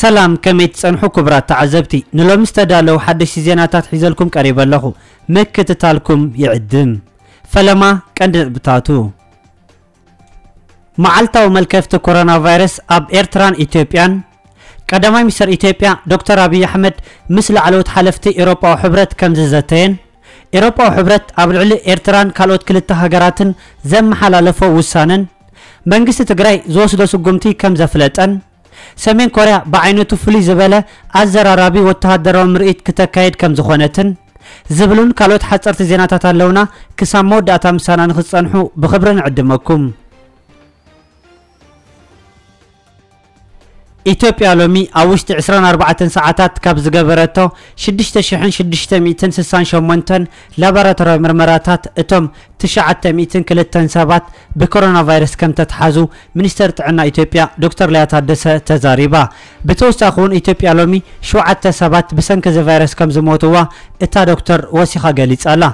ሰላም፣ ከመይ ትጸንሑ ክቡራት ተዓዘብቲ? ንሎሚ ዝተዳለዉ ሓደሽቲ ዜናታት ሒዘልኩም ቀሪበ ኣለኹ። ምክትታልኩም ይዕድም። ፈለማ ቀንዲ ነጥብታቱ። መዓልታዊ መልከፍቲ ኮሮና ቫይረስ ኣብ ኤርትራን ኢትዮጵያን። ቀዳማይ ሚኒስተር ኢትዮጵያ ዶክተር ኣብይ ኣሕመድ ምስ ላዕለዎት ሓለፍቲ ኤውሮጳዊ ሕብረት ከም ዝዘተየን፣ ኤውሮጳዊ ሕብረት ኣብ ልዕሊ ኤርትራን ካልኦት ክልተ ሃገራትን ዘመሓላለፎ ውሳነን፣ መንግስቲ ትግራይ ዝወስዶ ስጉምቲ ከም ዘፍለጠን፣ ሰሜን ኮርያ ብዓይነቱ ፍልይ ዝበለ ኣዘራራቢ ወተሃደራዊ ምርኢት ክተካይድ ከም ዝኾነትን ዝብሉን ካልኦት ሓጸርቲ ዜናታት ኣለውና። ክሳብ መወዳእታ ምሳና ንክትጸንሑ ብኽብሪ ንዕድመኩም። ኢትዮጵያ ሎሚ ኣብ ውሽጢ ዕስራን ኣርባዕተን ሰዓታት ካብ ዝገበረቶ ሽዱሽተ ሽሕን ሽዱሽተ ሚእትን ስሳን ሸሞንተን ላቦራቶርያዊ ምርመራታት እቶም ትሽዓተ ሚእትን ክልተን ሰባት ብኮሮና ቫይረስ ከም ተትሓዙ ሚኒስተር ጥዕና ኢትዮጵያ ዶክተር ሊያ ታደሰ ተዛሪባ። ብተወሳኺ እውን ኢትዮጵያ ሎሚ ሸውዓተ ሰባት ብሰንኪ እዚ ቫይረስ ከም ዝሞትዋ እታ ዶክተር ወሲኻ ገሊጻ ኣላ።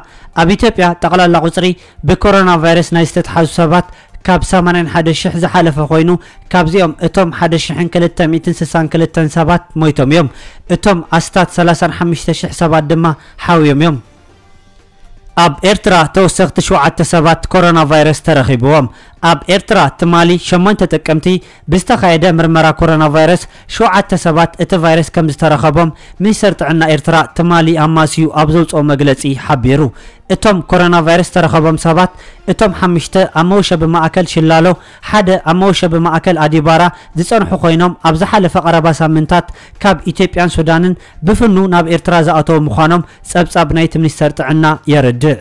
ኣብ ኢትዮጵያ ጠቕላላ ቁጽሪ ብኮሮና ቫይረስ ናይ ዝተትሓዙ ሰባት ካብ ሰማንያን ሓደ ሽሕ ዝሓለፈ ኮይኑ፣ ካብዚኦም እቶም ሓደ ሽሕን ክልተ ሚእትን ስሳን ክልተን ሰባት ሞይቶም እዮም። እቶም ኣስታት ሰላሳን ሓሙሽተ ሽሕ ሰባት ድማ ሓውዮም እዮም። ኣብ ኤርትራ ተወሰኽቲ ሸውዓተ ሰባት ኮሮና ቫይረስ ተረኺብዎም። ኣብ ኤርትራ ትማሊ ሸሞንተ ጥቅምቲ ብዝተኻየደ ምርመራ ኮሮና ቫይረስ ሸውዓተ ሰባት እቲ ቫይረስ ከም ዝተረኸቦም ሚኒስተር ጥዕና ኤርትራ ትማሊ ኣማስዩ ኣብ ዘውፅኦ መግለፂ ሓቢሩ። እቶም ኮሮና ቫይረስ ዝተረኸቦም ሰባት እቶም ሓሙሽተ ኣብ መወሸቢ ማእከል ሽላሎ፣ ሓደ ኣብ መወሸቢ ማእከል ኣዲባራ ዝጸንሑ ኮይኖም ኣብ ዝሓለፈ ቀረባ ሳምንታት ካብ ኢትዮጵያን ሱዳንን ብፍኑ ናብ ኤርትራ ዝኣተዉ ምዃኖም ጸብጻብ ናይቲ ሚኒስተር ጥዕና የረድእ።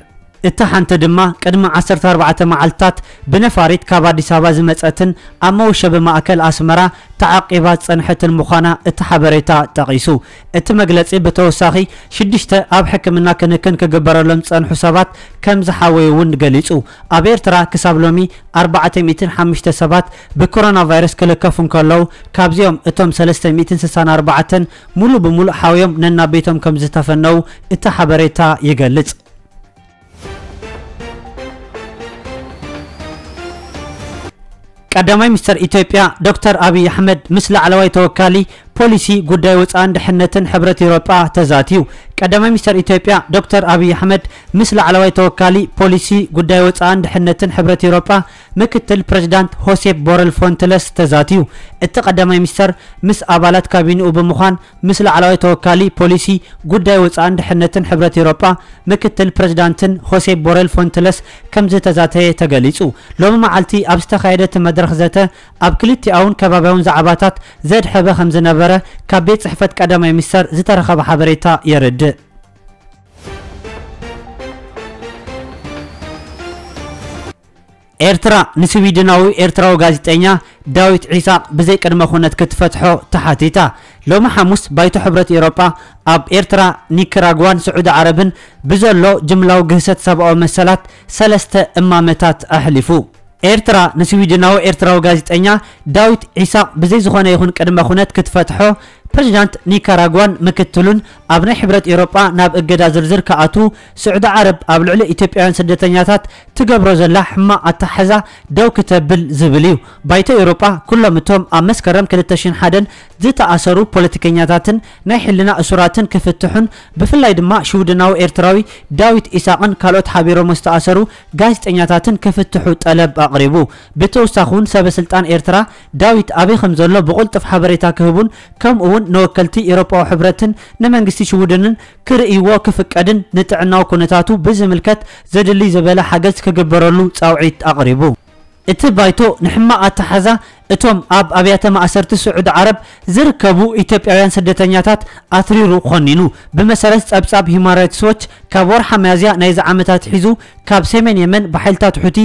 እታ ሓንቲ ድማ ቅድሚ ዓሰርተ ኣርባዕተ መዓልታት ብነፋሪት ካብ ኣዲስ ኣበባ ዝመጸትን ኣብ መወሸቢ ማእከል ኣስመራ ተዓቂባ ዝጸንሐትን ምዃና እቲ ሓበሬታ ጠቒሱ። እቲ መግለጺ ብተወሳኺ ሽዱሽተ ኣብ ሕክምና ክንክን ክግበረሎም ዝጸንሑ ሰባት ከም ዝሓወዩ እውን ገሊጹ። ኣብ ኤርትራ ክሳብ ሎሚ ኣርባዕተ ሚእትን ሓሙሽተ ሰባት ብኮሮና ቫይረስ ክልከፉ እንከለዉ፣ ካብዚኦም እቶም ሰለስተ ሚእትን ስሳን ኣርባዕተን ሙሉ ብሙሉ ሓውዮም ነናብ ቤቶም ከም ዝተፈነዉ እቲ ሓበሬታ ይገልጽ። ቀዳማይ ሚኒስተር ኢትዮጵያ ዶክተር ኣብይ ኣሕመድ ምስ ላዕለዋይ ተወካሊ ፖሊሲ ጉዳይ ወጻእን ድሕነትን ሕብረት ኤውሮጳ ተዛትዩ። ቀዳማይ ሚኒስተር ኢትዮጵያ ዶክተር ኣብይ ኣሕመድ ምስ ላዕለዋይ ተወካሊ ፖሊሲ ጉዳይ ወጻእን ድሕነትን ሕብረት ኤውሮጳ ምክትል ፕሬዚዳንት ሆሴፕ ቦረል ፎንትለስ ተዛትዩ። እቲ ቀዳማይ ሚኒስተር ምስ ኣባላት ካቢንኡ ብምዃን ምስ ላዕለዋይ ተወካሊ ፖሊሲ ጉዳይ ወጻእን ድሕነትን ሕብረት ኤውሮጳ ምክትል ፕሬዚዳንትን ሆሴፕ ቦረል ፎንትለስ ከም ዝተዛተየ ተገሊጹ። ሎሚ መዓልቲ ኣብ ዝተኻየደ እቲ መድረኽ ዘተ ኣብ ክልቲኣውን ከባብያውን ዛዕባታት ዘድሐበ ከም ዝነበረ ካብ ቤት ጽሕፈት ቀዳማይ ሚኒስተር ዝተረኸበ ሓበሬታ የረድእ። ኤርትራ ንስዊድናዊ ኤርትራዊ ጋዜጠኛ ዳዊት ዒሳቕ ብዘይ ቅድመ ኩነት ክትፈትሖ ተሓቲታ። ሎሚ ሓሙስ ባይቶ ሕብረት ኤውሮጳ ኣብ ኤርትራ፣ ኒካራጓን ስዑዲ ዓረብን ብዘሎ ጅምላዊ ግህሰት ሰብኣዊ መሰላት ሰለስተ እማመታት ኣሕሊፉ። ኤርትራ ንስዊድናዊ ኤርትራዊ ጋዜጠኛ ዳዊት ዒሳቕ ብዘይ ዝኾነ ይኹን ቅድመ ኩነት ክትፈትሖ ፕሬዚዳንት ኒካራጓን ምክትሉን ኣብ ናይ ሕብረት ኤውሮጳ ናብ እገዳ ዝርዝር ክኣትዉ ስዑዲ ዓረብ ኣብ ልዕሊ ኢትዮጵያውያን ስደተኛታት ትገብሮ ዘላ ሕማቕ ኣተሓሕዛ ደው ክተብል ዝብል እዩ። ባይቶ ኤውሮጳ ኩሎም እቶም ኣብ መስከረም ክልተ ሽሕን ሓደን ዝተኣሰሩ ፖለቲከኛታትን ናይ ሕልና እሱራትን ክፍትሑን ብፍላይ ድማ ሽውድናዊ ኤርትራዊ ዳዊት ኢሳቕን ካልኦት ሓቢሮም ዝተኣሰሩ ጋዜጠኛታትን ክፍትሑ ጠለብ ኣቕሪቡ። ብተወሳኺ እውን ሰበ ስልጣን ኤርትራ ዳዊት ኣበይ ከም ዘሎ ብቕልጡፍ ሓበሬታ ክህቡን ከምኡ እውን ንወከልቲ ኤውሮጳዊ ሕብረትን ንመንግስቲ ሽውድንን ክርእይዎ ክፍቀድን ንጥዕናዊ ኩነታቱ ብዝምልከት ዘድሊ ዝበለ ሓገዝ ክግበረሉ ጻውዒት ኣቕሪቡ። እቲ ባይቶ ንሕማቕ ኣተሓዛ እቶም ኣብ ኣብያተ ማእሰርቲ ስዑዲ ዓረብ ዝርከቡ ኢትዮጵያውያን ስደተኛታት ኣትሪሩ ኮኒኑ። ብመሰረት ጸብጻብ ሂውማን ራይትስ ዎች፣ ካብ ወርሓ ሚያዝያ ናይዚ ዓመት ኣትሒዙ ካብ ሰሜን የመን ብሓይልታት ሑቲ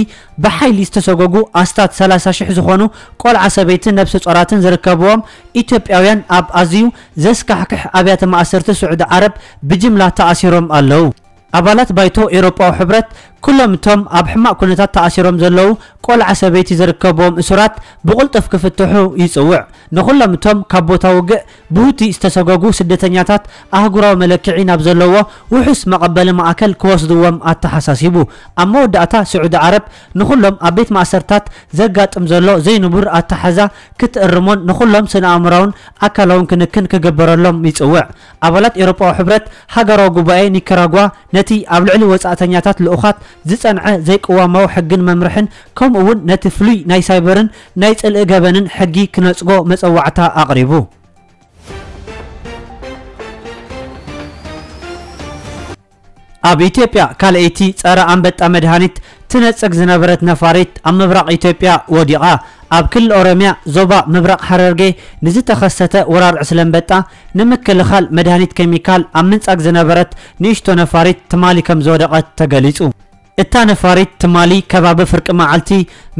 ብሓይሊ ዝተሰጎጉ ኣስታት ሰላሳ ሽሕ ዝኾኑ ቆልዓ ሰበይትን ነብሰ ጾራትን ዝርከብዎም ኢትዮጵያውያን ኣብ ኣዝዩ ዘስካሕክሕ ኣብያተ ማእሰርቲ ስዑዲ ዓረብ ብጅምላ ተኣሲሮም ኣለዉ። ኣባላት ባይቶ ኤውሮጳዊ ሕብረት ኩሎም እቶም ኣብ ሕማቕ ኩነታት ተኣሲሮም ዘለዉ ቆልዓ ሰበይቲ ዝርከብዎም እሱራት ብቕልጡፍ ክፍትሑ ይጽውዕ። ንኹሎም እቶም ካብ ቦታ ውግእ ብሁቲ ዝተሰጎጉ ስደተኛታት ኣህጉራዊ መለክዒ ናብ ዘለዎ ውሑስ መቐበሊ ማእከል ክወስድዎም ኣተሓሳሲቡ። ኣብ መወዳእታ ስዑዲ ዓረብ ንኹሎም ኣብ ቤት ማእሰርታት ዘጋጥም ዘሎ ዘይንቡር ኣተሓዛ ክትእርሞን ንኹሎም ስነ ኣእምራውን ኣካላውን ክንክን ክግበረሎም ይጽውዕ። ኣባላት ኤውሮጳዊ ሕብረት ሃገራዊ ጉባኤ ኒካራጓ ነቲ ኣብ ልዕሊ ወጻእተኛታት ልኡኻት ዝጸንዐ ዘይቅዋማዊ ሕግን መምርሕን ከምኡ እውን ነቲ ፍሉይ ናይ ሳይበርን ናይ ጽልኢ ገበንን ሕጊ ክነጽጎ መጸዋዕታ ኣቕሪቡ። ኣብ ኢትዮጵያ ካልኣይቲ ጸረ ኣንበጣ መድሃኒት ትነጽግ ዝነበረት ነፋሪት ኣብ ምብራቕ ኢትዮጵያ ወዲቓ። ኣብ ክልል ኦሮሚያ ዞባ ምብራቕ ሐረርጌ ንዝተኸሰተ ወራር ዕስለ ኣንበጣ ንምክልኻል መድሃኒት ኬሚካል ኣብ ምንጻግ ዝነበረት ንእሽቶ ነፋሪት ትማሊ ከም ዝወደቐት ተገሊጹ። እታ ነፋሪት ትማሊ ከባቢ ፍርቂ መዓልቲ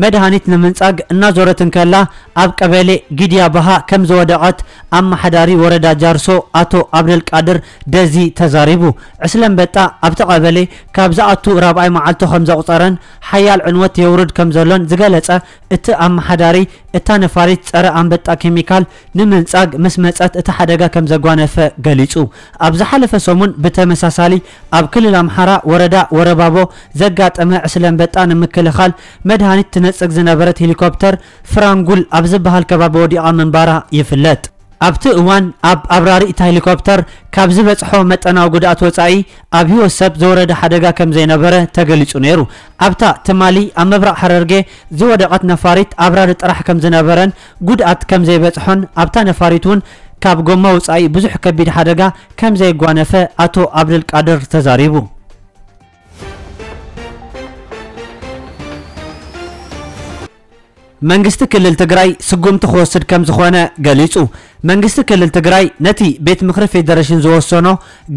መድሃኒት ንምንጻግ እናዞረት እንከላ ኣብ ቀበሌ ጊድያ ባሃ ከም ዝወደቐት ኣመሓዳሪ ወረዳ ጃርሶ ኣቶ ኣብደልቃድር ደዚ ተዛሪቡ። ዕስለ ኣንበጣ ኣብቲ ቀበሌ ካብ ዝኣቱ ራብዓይ መዓልቱ ከም ዘቑጸረን ሓያል ዕንወት የውርድ ከም ዘሎን ዝገለጸ እቲ ኣመሓዳሪ፣ እታ ነፋሪት ጸረ ኣንበጣ ኬሚካል ንምንጻግ ምስ መጸት እቲ ሓደጋ ከም ዘጓነፈ ገሊጹ። ኣብ ዝሓለፈ ሰሙን ብተመሳሳሊ ኣብ ክልል ኣምሓራ ወረዳ ወረባቦ ዘጋጠመ ዕስለ ኣንበጣ ንምክልኻል መድሃኒት ትነጽግ ዝነበረት ሄሊኮፕተር ፍራንጉል ኣብ ዝበሃል ከባቢ ወዲቓ ምንባራ ይፍለጥ። ኣብቲ እዋን ኣብ ኣብራሪ እታ ሄሊኮፕተር ካብ ዝበጽሖ መጠናዊ ጉድኣት ወጻኢ ኣብ ህይወት ሰብ ዝወረደ ሓደጋ ከም ዘይነበረ ተገሊጹ ነይሩ። ኣብታ ትማሊ ኣብ ምብራቕ ሐረርጌ ዝወደቐት ነፋሪት ኣብራሪ ጥራሕ ከም ዝነበረን ጉድኣት ከም ዘይበጽሖን ኣብታ ነፋሪት እውን ካብ ጎማ ወጻኢ ብዙሕ ከቢድ ሓደጋ ከም ዘየጓነፈ ኣቶ ኣብደልቃድር ተዛሪቡ። መንግስቲ ክልል ትግራይ ስጉምቲ ክወስድ ከም ዝኾነ ገሊጹ። መንግስቲ ክልል ትግራይ ነቲ ቤት ምኽሪ ፌደሬሽን ዝወሰኖ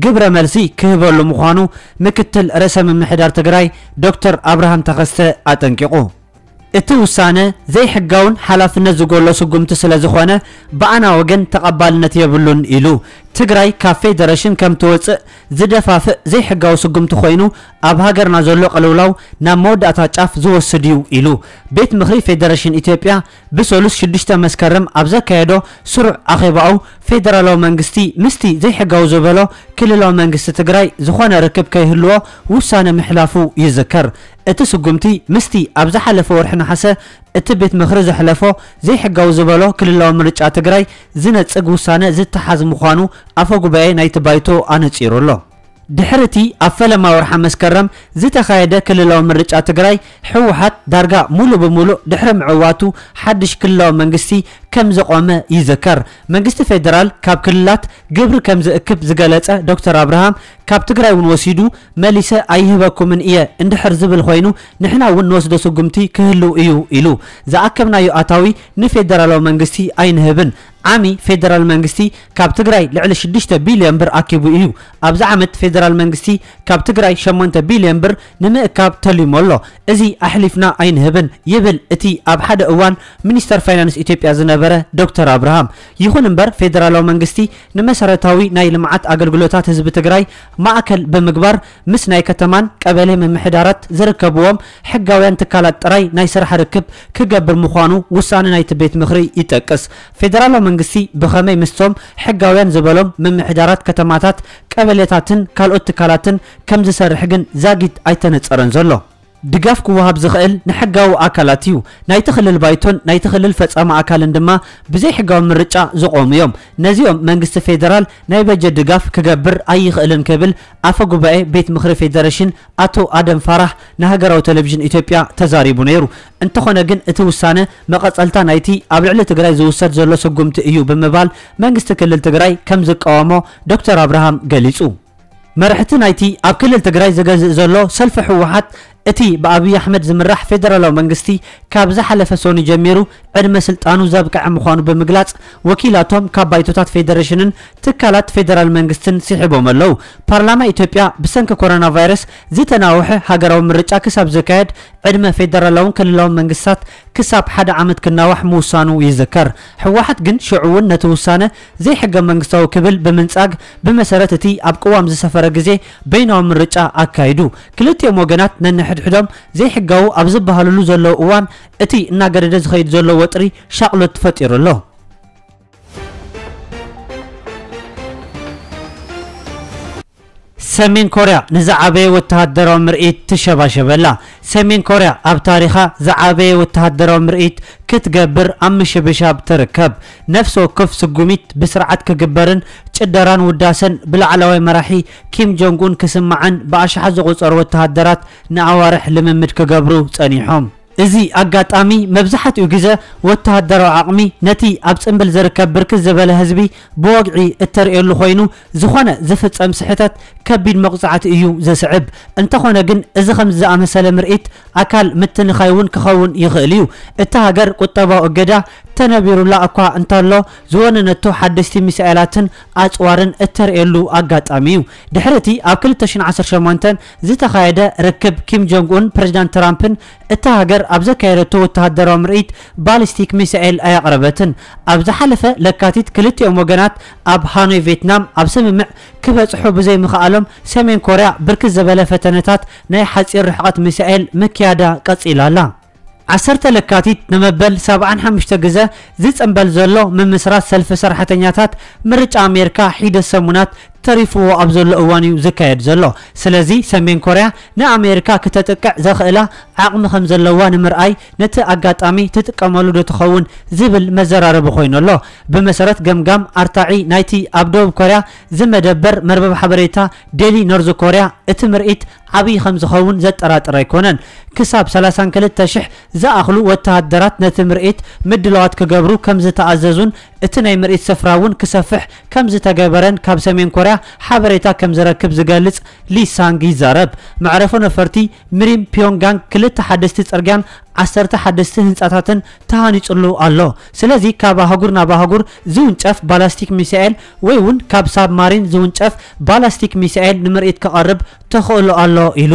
ግብረ መልሲ ክህበሉ ምዃኑ ምክትል ርእሰ ምምሕዳር ትግራይ ዶክተር ኣብርሃም ተኸስተ ኣጠንቂቑ። እቲ ውሳነ ዘይሕጋውን ሓላፍነት ዝጎሎ ስጉምቲ ስለ ዝኾነ ብኣና ወገን ተቐባልነት የብሉን ኢሉ። ትግራይ ካብ ፌደሬሽን ከም ትወፅእ ዝደፋፍእ ዘይሕጋዊ ስጉምቲ ኮይኑ ኣብ ሃገርና ዘሎ ቅልውላው ናብ መወዳእታ ጫፍ ዝወስድ እዩ ኢሉ። ቤት ምኽሪ ፌደሬሽን ኢትዮጵያ ብሰሉስ ሽዱሽተ መስከረም ኣብ ዘካየዶ ስሩዕ ኣኼባኡ ፌደራላዊ መንግስቲ ምስቲ ዘይሕጋዊ ዝበሎ ክልላዊ መንግስቲ ትግራይ ዝኾነ ርክብ ከይህልዎ ውሳነ ምሕላፉ ይዝከር። እቲ ስጉምቲ ምስቲ ኣብ ዝሓለፈ ወርሒ ነሓሰ እቲ ቤት ምኽሪ ዘሕለፎ ዘይሕጋዊ ዝበሎ ክልላዊ ምርጫ ትግራይ ዝነጽግ ውሳነ ዝተሓዝ ምዃኑ ኣፈ ጉባኤ ናይቲ ባይቶ ኣነጺሩ ኣሎ። ድሕሪ እቲ ኣብ ፈለማ ወርሓ መስከረም ዝተኻየደ ክልላዊ ምርጫ ትግራይ፣ ህወሓት ዳርጋ ሙሉእ ብሙሉእ ድሕሪ ምዕዋቱ ሓድሽ ክልላዊ መንግስቲ ከም ዘቖመ ይዝከር። መንግስቲ ፌደራል ካብ ክልላት ግብሪ ከም ዝእክብ ዝገለጸ ዶክተር ኣብርሃም፣ ካብ ትግራይ እውን ወሲዱ መሊሰ ኣይህበኩምን እየ እንድሕር ዝብል ኮይኑ ንሕና እውን ንወስዶ ስጉምቲ ክህልው እዩ ኢሉ። ዝኣከብናዮ ኣታዊ ንፌደራላዊ መንግስቲ ኣይንህብን። ዓሚ ፌደራል መንግስቲ ካብ ትግራይ ልዕሊ ሽዱሽተ ቢልዮን ብር ኣኪቡ እዩ። ኣብዚ ዓመት ፌደራል መንግስቲ ካብ ትግራይ ሸሞንተ ቢልዮን ብር ንምእካብ ተሊሙ ኣሎ። እዚ ኣሕሊፍና ኣይንህብን ይብል እቲ ኣብ ሓደ እዋን ሚኒስተር ፋይናንስ ኢትዮጵያ ዝነበረ ዶክተር ኣብርሃም። ይኹን እምበር ፌደራላዊ መንግስቲ ንመሰረታዊ ናይ ልምዓት ኣገልግሎታት ህዝቢ ትግራይ ማእከል ብምግባር ምስ ናይ ከተማን ቀበሌ ምምሕዳራት ዝርከብዎም ሕጋውያን ትካላት ጥራይ ናይ ስራሕ ርክብ ክገብር ምዃኑ ውሳነ ናይቲ ቤት ምኽሪ ይጠቅስ። ፌደራላዊ መንግስቲ ብኸመይ ምስቶም ሕጋውያን ዝበሎም ምምሕዳራት ከተማታት፣ ቀበሌታትን ካልኦት ትካላትን ከም ዝሰርሕ ግን ዛጊት ኣይተነጸረን ዘሎ። ድጋፍ ክወሃብ ዝኽእል ንሕጋዊ ኣካላት እዩ። ናይቲ ክልል ባይቶን ናይቲ ክልል ፈጻሚ ኣካልን ድማ ብዘይሕጋዊ ምርጫ ዝቖሙ እዮም። ነዚኦም መንግስቲ ፌደራል ናይ በጀት ድጋፍ ክገብር ኣይኽእልን ክብል ኣፈ ጉባኤ ቤት ምኽሪ ፌደሬሽን ኣቶ ኣደም ፋራህ ንሃገራዊ ቴሌቪዥን ኢትዮጵያ ተዛሪቡ ነይሩ። እንተኾነ ግን እቲ ውሳነ መቐጸልታ ናይቲ ኣብ ልዕሊ ትግራይ ዝውሰድ ዘሎ ስጉምቲ እዩ ብምባል መንግስቲ ክልል ትግራይ ከም ዝቃወሞ ዶክተር ኣብርሃም ገሊጹ። መራሕቲ ናይቲ ኣብ ክልል ትግራይ ዝገዝእ ዘሎ ሰልፊ ህወሓት እቲ ብኣብይ ኣሕመድ ዝምራሕ ፌደራላዊ መንግስቲ ካብ ዝሓለፈ ሰኑይ ጀሚሩ ዕድመ ስልጣኑ ዘብቅዐ ምዃኑ ብምግላጽ፣ ወኪላቶም ካብ ባይቶታት ፌደሬሽንን ትካላት ፌደራል መንግስትን ስሒቦም ኣለዉ። ፓርላማ ኢትዮጵያ ብሰንኪ ኮሮና ቫይረስ ዝተናውሐ ሃገራዊ ምርጫ ክሳብ ዝካየድ ዕድመ ፌደራላውን ክልላውን መንግስታት ክሳብ ሓደ ዓመት ክናዋሕ ምውሳኑ ይዝከር። ህወሓት ግን ሽዑ እውን ነቲ ውሳነ ዘይሕገ መንግስታዊ ክብል ብምንጻግ፣ ብመሰረት እቲ ኣብ ቅዋም ዝሰፈረ ግዜ በይናዊ ምርጫ ኣካይዱ። ክልቲኦም ወገናት ነንሕድሕዶም ዘይሕጋዊ ኣብ ዝበሃልሉ ዘለዉ እዋን፣ እቲ እናገደደ ዝኸይድ ዘሎ ወጥሪ ሻቕሎት ፈጢሩ ኣሎ። ሰሜን ኮርያ ንዝዓበየ ወተሃደራዊ ምርኢት ትሸባሸበላ። ሰሜን ኮርያ ኣብ ታሪኻ ዝዓበየ ወተሃደራዊ ምርኢት ክትገብር ኣብ ምሽብሻብ ትርከብ። ነፍሲ ወከፍ ስጉሚት ብስርዓት ክግበርን ጭደራን ውዳሰን ብላዕለዋይ መራሒ ኪም ጆንግ ኡን ክስማዕን ብኣሽሓት ዝቑጸሩ ወተሃደራት ንኣዋርሕ ልምምድ ክገብሩ ጸኒሖም። እዚ ኣጋጣሚ መብዛሕትኡ ግዜ ወተሃደራዊ ዓቕሚ ነቲ ኣብ ጽምብል ዝርከብ ብርክት ዝበለ ህዝቢ ብወግዒ እተርእየሉ ኮይኑ፣ ዝኾነ ዝፍጸም ስሕተት ከቢድ መቕጻዕቲ እዩ ዘስዕብ። እንተኾነ ግን፣ እዚ ከምዚ ዝኣመሰለ ምርኢት ኣካል ምትንኻይ እውን ክኸውን ይኽእል እዩ። እታ ሃገር ቁጠባዊ እገዳ ተነቢሩላ እኳ እንተሎ፣ ዝወነነቶ ሓደስቲ ሚሳኤላትን ኣጽዋርን እተርእየሉ ኣጋጣሚ እዩ። ድሕሪ እቲ ኣብ ክልተ ሽሕን ዓሰርተ ሸሞንተን ዝተኻየደ ርክብ ኪም ጆንግ ኡን ፕሬዚዳንት ትራምፕን እታ ሃገር ኣብ ዘካየደቶ ወተሃደራዊ ምርኢት ባሊስቲክ ሚሳኤል ኣየቕረበትን። ኣብ ዝሓለፈ ለካቲት ክልቲኦም ወገናት ኣብ ሃኖይ ቬትናም ኣብ ስምምዕ ክበጽሑ ብዘይምኽኣሎም ሰሜን ኮርያ ብርክት ዝበለ ፈተነታት ናይ ሓጺር ርሕቐት ሚሳኤል ምክያዳ ቀጺላ ኣላ። ዓሰርተ ለካቲት ንመበል ሰብዓን ሓሙሽተ ግዘ ዝጽንበል ዘሎ ምምስራት ሰልፊ ሰራሕተኛታት ምርጫ ኣሜሪካ ሒደት ሰሙናት ተሪፍዎ ኣብ ዘሎ እዋን እዩ ዝካየድ ዘሎ። ስለዚ ሰሜን ኮርያ ንኣሜሪካ ክተጥቅዕ ዘኽእላ ዓቕሚ ከም ዘለዋ ንምርኣይ ነቲ ኣጋጣሚ ትጥቀመሉ ዶ ትኸውን ዝብል መዘራረቢ ኮይኑ ኣሎ። ብመሰረት ገምጋም ኣርታዒ ናይቲ ኣብ ደቡብ ኮርያ ዝመደበር መርበብ ሓበሬታ ዴሊ ኖርዝ ኮርያ እቲ ምርኢት ዓብዪ ከም ዝኸውን ዘጠራጥር ኣይኮነን። ክሳብ ሰላሳን ክልተ ሽሕ ዝኣኽሉ ወተሃደራት ነቲ ምርኢት ምድላዋት ክገብሩ ከም ዝተኣዘዙን እቲ ናይ ምርኢት ስፍራ እውን ክሰፍሕ ከም ዝተገበረን ካብ ሰሜን ኮርያ ሓበሬታ ከም ዝረክብ ዝገልጽ ሊ ሳንግ ይዛረብ። መዕረፎ ነፈርቲ ምሪም ፒዮንጋንግ ክልተ ሓደስቲ ጽርግያን ዓሰርተ ሓደስቲ ህንጻታትን ተሃኒጹሉ ኣሎ። ስለዚ ካብ ኣህጉር ናብ ኣህጉር ዝውንጨፍ ባላስቲክ ሚሳኤል ወይ እውን ካብ ሳብማሪን ዝውንጨፍ ባላስቲክ ሚሳኤል ንምርኢት ክቐርብ ተኽእሎ ኣሎ ኢሉ።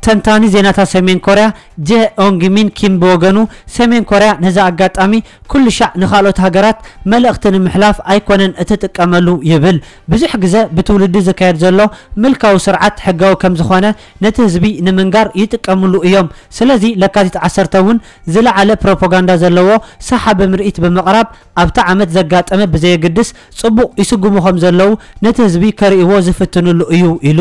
ተንታኒ ዜናታት ሰሜን ኮርያ ጀ ኦንግ ሚን ኪም ብወገኑ፣ ሰሜን ኮርያ ነዚ ኣጋጣሚ ኩሉ ሻዕ ንኻልኦት ሃገራት መልእኽቲ ንምሕላፍ ኣይኮነን እትጥቀመሉ ይብል። ብዙሕ ግዘ ብትውልዲ ዝካየድ ዘሎ ምልካዊ ስርዓት ሕጋዊ ከም ዝኾነ ነቲ ህዝቢ ንምንጋር ይጥቀምሉ እዮም። ስለዚ ለካቲት ዓሰርተ እውን ዝለዓለ ፕሮፓጋንዳ ዘለዎ ሰሓቢ ምርኢት ብምቕራብ ኣብቲ ዓመት ዘጋጠመ ብዘየግድስ ጽቡቕ ይስጉሙ ከም ዘለዉ ነቲ ህዝቢ ከርእይዎ ዝፍትንሉ እዩ ኢሉ።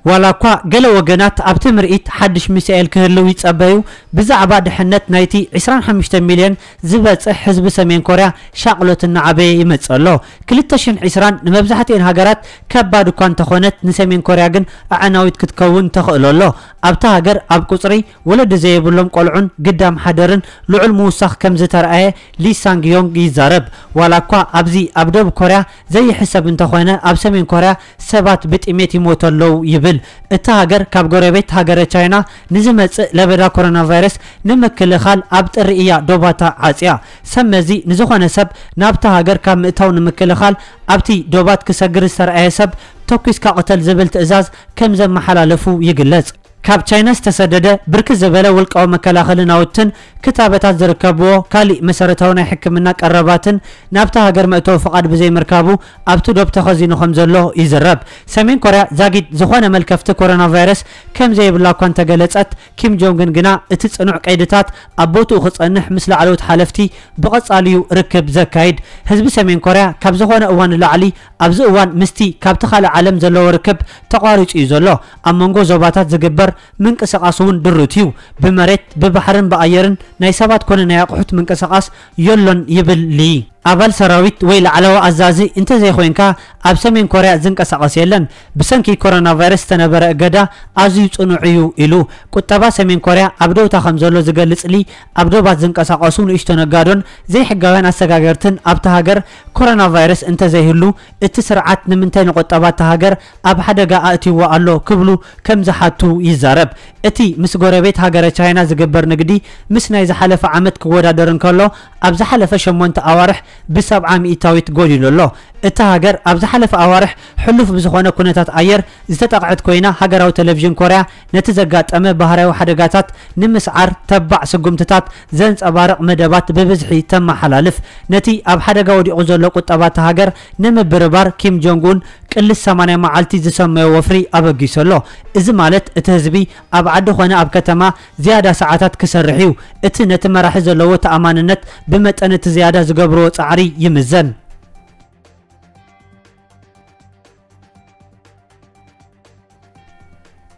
ዋላ እኳ ገለ ወገናት ኣብቲ ምርኢት ሓድሽ ሚሳኤል ክህልው ይጸበዩ፣ ብዛዕባ ድሕነት ናይቲ ዕስራን ሓሙሽተ ሚልዮን ዝበጽሕ ህዝቢ ሰሜን ኮርያ ሻቕሎት እናዓበየ ይመጽእ ኣሎ። ክልተ ሽሕን ዕስራን ንመብዛሕትኤን ሃገራት ከባድ እኳ እንተኾነት፣ ንሰሜን ኮርያ ግን ኣዕናዊት ክትከውን ተኽእሎ ኣሎ። ኣብታ ሃገር ኣብ ቁጽሪ ወለዲ ዘይብሎም ቆልዑን ግዳም ሓደርን ልዑል ምውሳኽ ከም ዝተረኣየ ሊ ሳንግ ዮንግ ይዛረብ። ዋላ እኳ ኣብዚ ኣብ ደቡብ ኮርያ ዘይሕሰብ እንተኾነ፣ ኣብ ሰሜን ኮርያ ሰባት ብጥሜት ይሞቱ ኣለዉ ይብል። እታ ሃገር ካብ ጎረቤት ሃገረ ቻይና ንዝመጽእ ለበዳ ኮሮና ቫይረስ ንምክልኻል ኣብ ጥሪ እያ ዶባታ ዓጽያ። ሰብ መዚ ንዝኾነ ሰብ ናብታ ሃገር ካብ ምእታው ንምክልኻል ኣብቲ ዶባት ክሰግር ዝተረኣየ ሰብ ተኲስካ ቅተል ዝብል ትእዛዝ ከም ዘመሓላለፉ ይግለጽ። ካብ ቻይና ዝተሰደደ ብርክት ዝበለ ውልቃዊ መከላኸሊ ናውትን ክታበታት ዝርከብዎ ካሊእ መሰረታዊ ናይ ሕክምና ቀረባትን ናብታ ሃገር መእተዊ ፍቓድ ብዘይምርካቡ ኣብቲ ዶብ ተኸዚኑ ከም ዘሎ ይዝረብ። ሰሜን ኮርያ ዛጊድ ዝኾነ መልከፍቲ ኮሮና ቫይረስ ከም ዘይብላ እኳ እንተገለጸት፣ ኪም ጆንግ ኡን ግና እቲ ጽኑዕ ቀይድታት ኣብ ቦትኡ ክጸንሕ ምስ ላዕለዎት ሓለፍቲ ብቐጻሊ እዩ ርክብ ዘካይድ። ህዝቢ ሰሜን ኮርያ ካብ ዝኾነ እዋን ንላዕሊ ኣብዚ እዋን ምስቲ ካብቲ ካልእ ዓለም ዘለዎ ርክብ ተቋሪጹ እዩ ዘሎ። ኣብ መንጎ ዞባታት ዝግበር ምንቅስቓስ እውን ድሩት እዩ። ብመሬት፣ ብባሕርን ብኣየርን ናይ ሰባት ኮነ ናይ ኣቑሑት ምንቅስቓስ የሎን ይብል ሊ። ኣባል ሰራዊት ወይ ላዕለዋ ኣዛዚ እንተዘይኮይንካ ኣብ ሰሜን ኮርያ ዝንቀሳቐስ የለን። ብሰንኪ ኮሮና ቫይረስ ዝተነበረ እገዳ ኣዝዩ ጽኑዕ እዩ ኢሉ። ቁጠባ ሰሜን ኮርያ ኣብ ደውታ ከም ዘሎ ዝገልጽ ሊ፣ ኣብ ዶባት ዝንቀሳቐሱ ንእሽቶ ነጋዶን ዘይሕጋውያን ኣሰጋገርትን ኣብታ ሃገር ኮሮና ቫይረስ እንተዘይህሉ እቲ ስርዓት ንምንታይ ንቁጠባ እታ ሃገር ኣብ ሓደጋ ኣእትይዋ ኣሎ ክብሉ ከም ዝሓቱ ይዛረብ። እቲ ምስ ጎረቤት ሃገረ ቻይና ዝግበር ንግዲ ምስ ናይ ዝሓለፈ ዓመት ክወዳደር እንከሎ ኣብ ዝሓለፈ ሸሞንተ ኣዋርሕ ብሰብዓ ሚእታዊት ጎዲሉ ኣሎ። እታ ሃገር ኣብ ዝሓለፈ ኣዋርሕ ሕሉፍ ብዝኾነ ኩነታት ኣየር ዝተጠቕዐት ኮይና፣ ሃገራዊ ቴሌቪዥን ኮርያ ነቲ ዘጋጠመ ባህርያዊ ሓደጋታት ንምስዓር ተባዕ ስጉምትታት ዘንጸባርቕ መደባት ብብዝሒ ተመሓላልፍ። ነቲ ኣብ ሓደጋ ወዲቑ ዘሎ ቁጠባ እታ ሃገር ንምብርባር፣ ኪም ጆንግ ኡን ቅልስ ሰማንያ መዓልቲ ዝሰመዮ ወፍሪ ኣበጊሱ ኣሎ። እዚ ማለት እቲ ህዝቢ ኣብ ዓዲ ኾነ ኣብ ከተማ ዝያዳ ሰዓታት ክሰርሕ እዩ። እቲ ነቲ መራሒ ዘለዎ ተኣማንነት ብመጠን እቲ ዝያዳ ዝገብርዎ ጻዕሪ ይምዘን።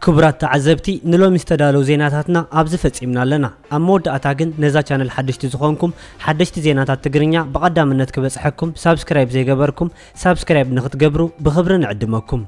ክቡራት ተዓዘብቲ፣ ንሎሚ ዝተዳለዉ ዜናታትና ኣብዚ ፈጺምና ኣለና። ኣብ መወዳእታ ግን ነዛ ቻነል ሓደሽቲ ዝኾንኩም፣ ሓደሽቲ ዜናታት ትግርኛ ብቐዳምነት ክበጽሐኩም ሳብስክራይብ ዘይገበርኩም ሳብስክራይብ ንኽትገብሩ ብኽብሪ ንዕድመኩም።